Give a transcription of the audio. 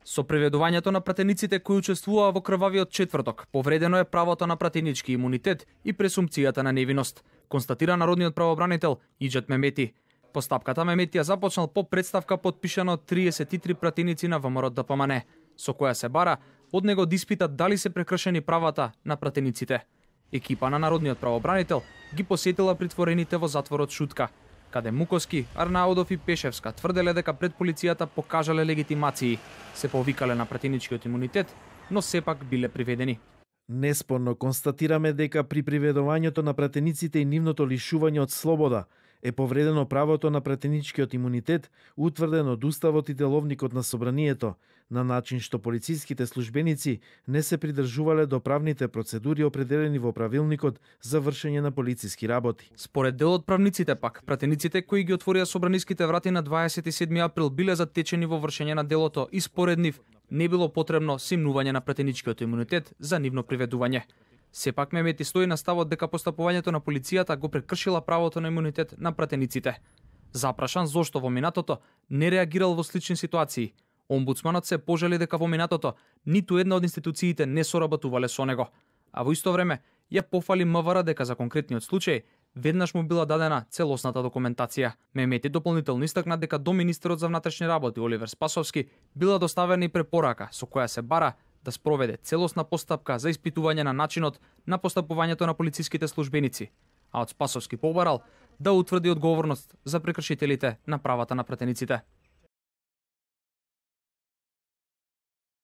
Со приведувањето на пратениците кои учествуваа во крвавиот четврток, повредено е правото на пратенички имунитет и пресумпцијата на невиност, констатира народниот правобранител Иџет Мемети. Постапката Мемети ја започнал по представка подпишана од 33 пратеници на ВМРО ДПМН, со која се бара од него да испитат дали се прекршени правата на пратениците. Екипа на народниот правобранител ги посетила притворените во затворот Шутка, каде Муковски, Арнаудов и Пешевска тврделе дека пред полицијата покажале легитимации, се повикале на пратеничкиот имунитет, но сепак биле приведени. Неспорно констатираме дека при приведувањето на пратениците и нивното лишување од слобода е повредено правото на пратеничкиот имунитет, утврден од Уставот и Деловникот на Собранието, на начин што полициските службеници не се придржувале до правните процедури определени во правилникот за вршење на полициски работи. Според дел од правниците пак, пратениците кои ги отворија собраниските врати на 27 април биле затечени во вршење на делото и според нив не било потребно симнување на пратеничкиот имунитет за нивно приведување. Сепак Мемети стои на ставот дека постапувањето на полицијата го прекршила правото на имунитет на пратениците. Запрашан зошто во минатото не реагирал во слични ситуации, омбудсманот се пожали дека во минатото ниту една од институциите не соработувале со него, а во исто време ја пофали МВР дека за конкретниот случај веднаш му била дадена целосната документација. Мемети дополнително истакна дека до министерот за внатрешни работи Оливер Спасовски била доставена и препорака со која се бара да спроведе целосна постапка за испитување на начинот на постапувањето на полициските службеници, а од Спасовски побарал да утврди одговорност за прекршителите на правата на пратениците.